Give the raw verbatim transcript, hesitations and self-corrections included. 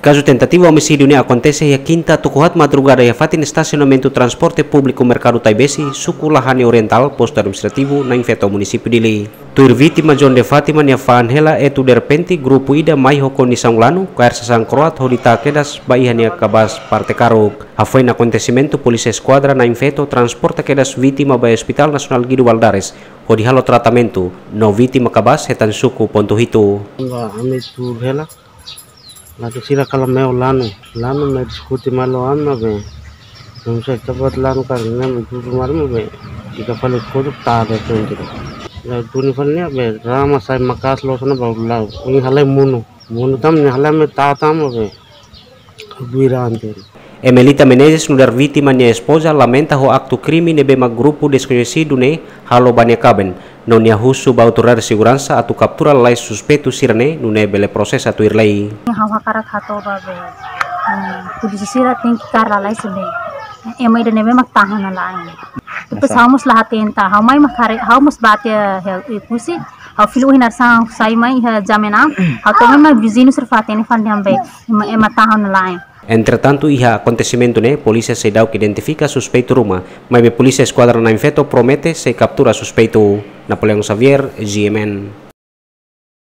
Kazu tentativa omisídiu ne'e akontese iha kinta tuku haat madrugada iha fatin estasionamentu transporte públiku Merkadu Taibesi, suku Lahani Orientál, postu administrativu Nain Feto, munisípiu Dili. Tuir vítima John de Fátima nia fa'an hela, etu derrepente grupu ida mai ho kondisaun lanu, kaer sasán kroat hodi tau kedas ba iha nia kabaas parte karuk. Hafoin akontesimentu, Polísia Eskuadra Nain Feto transporta kedas vítima ba Hospital Nasionál Guido Valadares hodi halo tratamentu, no vítima kabaas hetan suku pontu hitu. Ba ami tuur hela, langsung sira kala mai ho lanu, lanu mai diskute malu ami maibé. Não sei, tabat lanu karik ne'e mai tutu malu maibé. Ita fali kotuk tada frente. Ya, duni fali ne'e be, rama sai maka'as loos ona baru la'o. Nia halai monu. Monu tan, nia halai mai tau tan maibé. Buira anterior. Emelita Menezes, nu'udar vítima nia espoza, lamenta ho aktu krime ne'ebé mak grupu deskoñesidu ne'e halo ba nia kaben, no nia husu ba autoridade seguransa atu kaptura lalais suspeitu sira-ne'e, nune'e bele prosesa tuir lei. Ha'u hakarak hato'o ba be, hmm, polísia sira tenke kaer lalais be. Ema ida ne'ebé mak tahan ona la'en. Depois ha'u mós la hatene, ha'u mai mak haree, ha'u mós bá tiha, eh, ikus, ha'u fila ohin hanesan sai mai iha jam enam, ha'u to'o mai mak viziñu sira fó-hatene fali dehan be ema, ema tahan ona la'en. Entretantu, iha akontesimentu ne'e, polísia seidauk identifika suspeitu ruma, maibé Polísia Eskuadra Nain Feto promete sei kaptura suspeitu. Napoleão Xavier, G M N.